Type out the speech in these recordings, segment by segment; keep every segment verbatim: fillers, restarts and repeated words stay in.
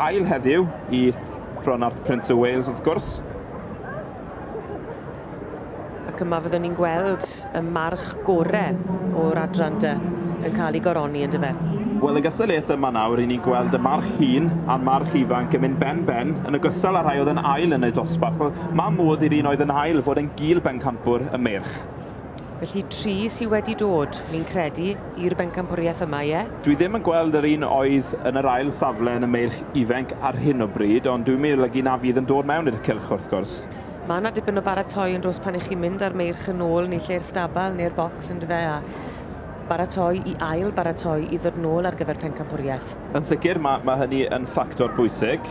Ail heddiw i Fronarth Prince of Wales, wrth gwrs. Ac yma fyddwn ni'n gweld y march gore o'r adran dy yn cael ei goroni yn dyfe. Wel, y gystadleuaeth yma nawr, i ni'n gweld y march hŷn a'r march ifanc yn mynd ben-ben yn ogystal â rhai oedd yn ail yn y dosbarth. Mae modd i'r un oedd yn ail fod yn gil bencampwr y meirch. Felly tri sydd wedi dod, fi'n credu, i'r bencampwriaeth yma, ie? Dwi ddim yn gweld yr un oedd yn yr ail safle yn y meirch ifanc ar hyn o bryd, ond dwi'n meddwl olygu na fydd yn dod mewn i'r cylch wrth gwrs. Mae yna dipyn o baratoi yn dros pan ych chi'n mynd ar meirch yn ôl neu lle'r stabal neu'r bocs yn dyfe, a baratoi i ail baratoi i ddod nôl ar gyfer pencampwriaeth. Yn sicr, mae, mae hynny yn ffactor bwysig.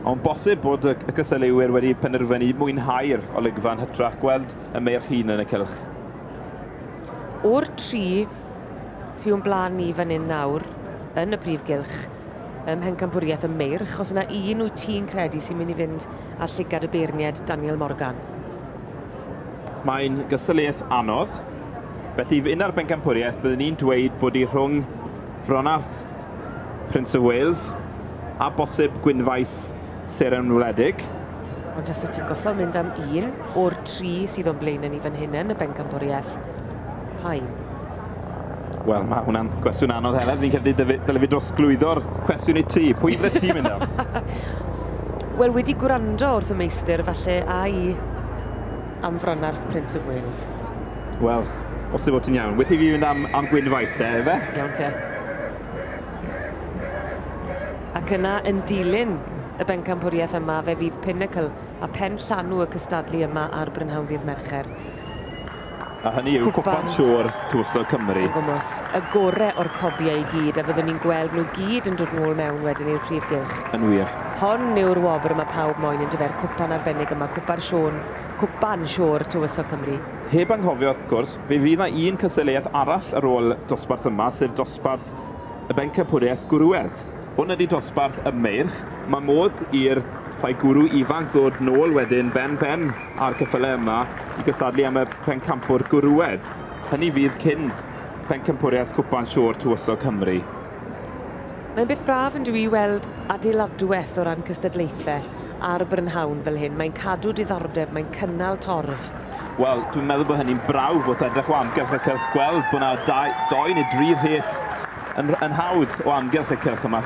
Ond bosib bod y cystadleuwyr wedi penderfynu mwynhau'r olygfa yn hytrach gweld y meirch hŷn yn y cylch. O'r tri sy'n o'n blaen ni fan hyn nawr yn y prif gylch ym mhencampwriaeth y meirch, os yna un wyt ti'n credu sy'n mynd i fynd â llygad y beirniad Daniel Morgan? Mae'n gystadleuaeth anodd. Felly, un ar bencampwriaeth, byddwn ni'n dweud bod hi rhwng Fronarth Prince of Wales a bosib Gwynfaes Seren Wledig. Ond os wyt ti'n goffo mynd am un o'r tri sydd o'n blaen ni fan hyn yn y bencampwriaeth, pa un? Wel, mae hwnna'n gwestiwn anodd, Heledd. Fi'n credu dyle fi drosglwyddo'r cwestiwn i ti. Pwy fydde ti'n mynd am? Wel, wedi gwrando wrth y meistr, falle, a i am Fronarth Prince of Wales. Wel, bosib bod ti'n iawn. Wyth i fi fynd am, am Gwynfaes, de, efe? Iawn te. Ac yna, yn dilyn y bencampwriaeth yma, fe fydd Pinnacle a pen llanw y cystadlu yma ar Brynhawn ddydd Mercher. A hynny yw Cwpan Siôr Tywysog Cymru. Gwmws, y gore o'r cobiau i gyd, a fyddwn ni'n gweld nhw gyd yn dod nôl mewn wedyn i'r prif gylch. Yn wir. Hon yw'r wobr yma pawb moyn yn dyfer, cwpan arbennig yma, Cwpan Siôn, Cwpan Siôr Tywysog Cymru. Heb anghofio, wrth gwrs, fe fydd yna un cystadleuaeth arall ar ôl dosbarth yma, sef dosbarth y bencampwriaeth gwrywedd. Hwn ydy dosbarth y meirch. Mae modd i'r rhai gwrw ifanc ddod nôl wedyn ben-ben a'r ceffylau yma i gystadlu am y pencampwr gwrywedd. Hynny fydd cyn pencampwriaeth Cwpan Siôr Tywysog Cymru. Mae'n beth braf yn dwi i weld adeiladwaith o ran cystadlaethau ar Brynhawn fel hyn. Mae'n cadw diddordeb, mae'n cynnal torf. Wel, dwi'n meddwl bod hynny'n brawf wrth edrych o amgylch y cylch, gweld bod yna dau, doi neu dri rhes yn, yn hawdd o amgylch y cylch yma.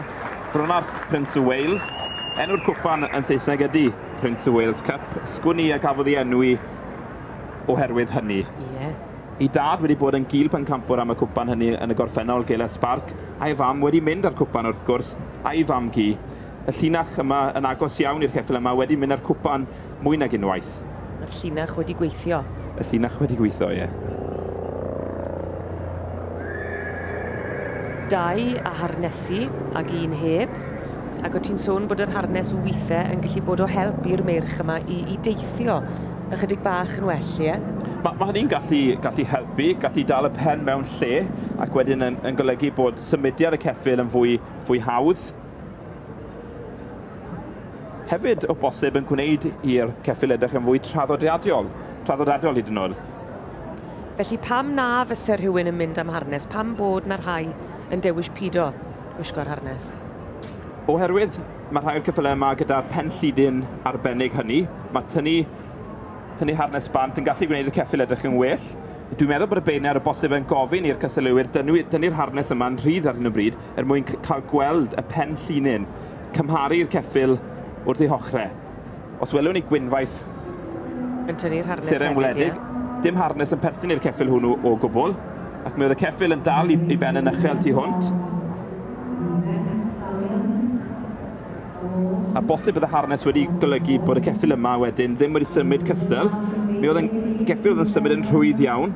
Fronarth Prince of Wales. Enw'r cwpan yn Saesneg ydy Prince of Wales Cup. Sgwn i a gafodd ei enwi oherwydd hynny. Ie. Yeah. Ei dad wedi bod yn gil pencampwr am y cwpan hynny yn y gorffennol, Gela Spark, a'i fam wedi mynd ar cwpan wrth gwrs, a'i fam gi. Y llinach yma yn agos iawn i'r ceffyl yma wedi mynd ar cwpan mwy nag unwaith. Y llinach wedi gweithio. Y llinach wedi gweithio, ie. Dau a harnesu ag un heb. Ac o ti'n sôn bod yr harnes weithiau yn gallu bod o help i'r meirch yma i, i deithio ychydig bach yn well, ie? Mae ma hynny'n gallu, gallu helpu, gallu dal y pen mewn lle, ac wedyn yn, yn golygu bod symudiad y ceffyl yn fwy, fwy hawdd. Hefyd, o bosib, yn gwneud i'r ceffyl edrych yn fwy traddodiadol, traddodiadol hyd yn oed. Felly pam na fyse rhywun yn mynd am harnes? Pam bod na rhai yn dewis pido gwisgo'r harnes? Oherwydd mae rhai o'r ceffylau yma gyda'r penllidyn arbennig hynny, mae tynnu, tynnu harnes bant yn gallu gwneud y ceffyl edrych yn well. Dwi'n meddwl bod y beirniad o bosib yn gofyn i'r cystadleuwyr dynnu, dynnu'r harnes yma'n rhydd ar hyn o bryd er mwyn cael gweld y penllinyn, cymharu'r ceffyl wrth ei hochrau. Os welwn ni Gwynfaes yn tynnu'r harnes Seren Wledig, dim harnes yn perthyn i'r ceffyl hwnnw o gwbl, ac mi oedd y ceffyl yn dal i, i ben yn uchel tu hwnt. A bosib bydd y harnes wedi golygu bod y ceffyl yma wedyn ddim wedi symud cystal. Mi oedd yn geffyl oedd yn symud yn rhwydd iawn.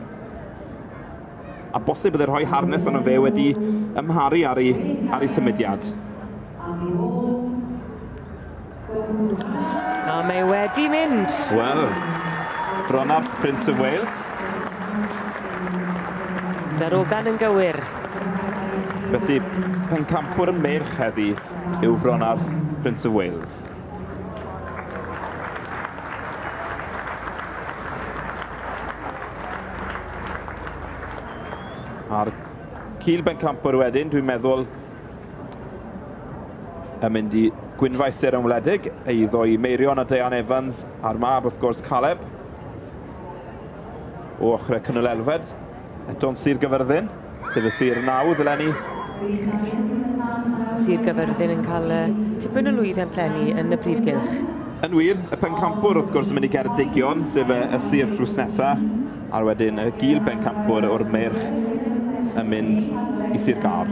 A bosib bydd y rhoi harnes arno fe wedi ymharu ar ei, ar ei symudiad. A mae wedi mynd. Wel, Fronarth Prince of Wales. Darogan yn gywir. Felly, pencampwr y meirch heddi yw Fronarth Prince of Wales. A'r cil bencampwr wedyn, dwi'n meddwl, yn mynd i Gwynfaes Seren Wledig, eiddo i Meirion a Deian Evans, a'r mab wrth gwrs Caleb, o ochrau Cynnal Elfed, eto'n Sir Gyfyrddin, sef y sir nawdd eleni. Sir Gyfyrddin yn cael tipyn o lwyddiant eleni yn y prif gylch. Yn wir, y pencampwr wrth gwrs yn mynd i Geredigion, sef y, y sir drws nesaf, a wedyn y gil bencampwr o'r meirch yn mynd i Sir Gâr.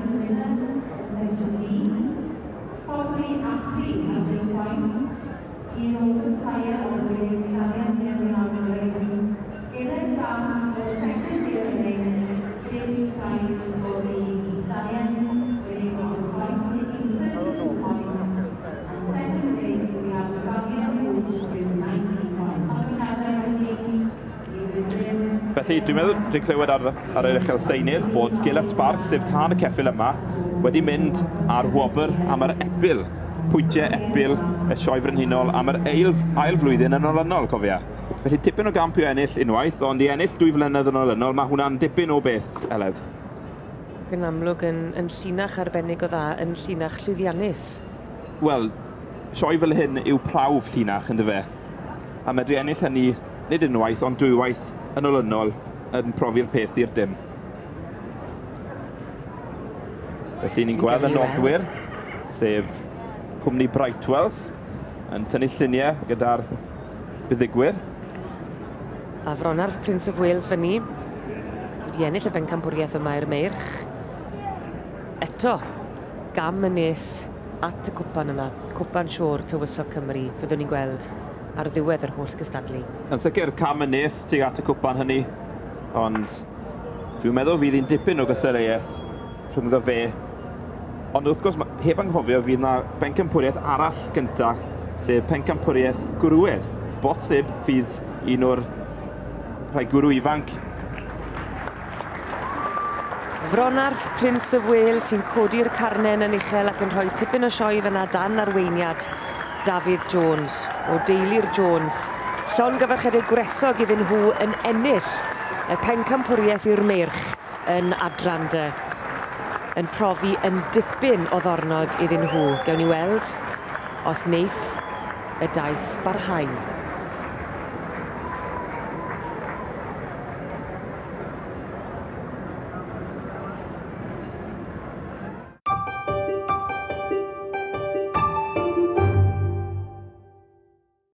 Felly, dwi'n meddwl, dwi'n clywed ar, ar yr uchel seinydd bod Gila Spark, sef tân y ceffyl yma, wedi mynd ar wobr am yr epil, pwyntiau epil y Sioe Frenhinol am yr ail, ail flwyddyn yn olynol, cofia. Felly, tipyn o gamp i ennill unwaith, ond i ennill dwy flynedd yn olynol, mae hwnna'n dipyn o beth, Eledd. Yn amlwg yn, yn llinach arbennig o dda, yn llinach llwyddiannus. Wel, sioe fel hyn yw prawf llinach, yndyfe? A medru ennill hynny, nid unwaith, ond dwywaith yn olynol yn profi'r peth i'r dim. Felly ni'n gweld y noddwyr, sef cwmni Brightwells, yn tynnu lluniau gyda'r buddugwyr. A Fronarth Prince of Wales fyny, wedi ennill y bencampwriaeth yma i'r meirch. Eto, gam yn nes at y cwpan yma, cwpan Siôr Tywysog Cymru, fyddwn ni'n gweld ar ddiwedd yr holl gystadlu. Yn sicr, cam yn nes tuag at y cwpan hynny, ond dwi'n meddwl fydd hi'n dipyn o gystadleuaeth rhyngddo fe. Ond wrth gwrs, heb anghofio, fydd yna bencampwriaeth arall gyntaf, sef pencampwriaeth gwrywedd. Bosib fydd un o'r rhai gwrw ifanc. Fronarth Prince of Wales sy'n codi'r carnen yn uchel ac yn rhoi tipyn o sioe fyna dan arweiniad Dafydd Jones, o deulu'r Jones. Llongyfarchiadau gwresog iddyn nhw yn ennill y pencampwriaeth i'r meirch yn adran dy, yn profi yn dipyn o ddornod iddyn nhw. Gewn ni weld os wneith y daith barhau.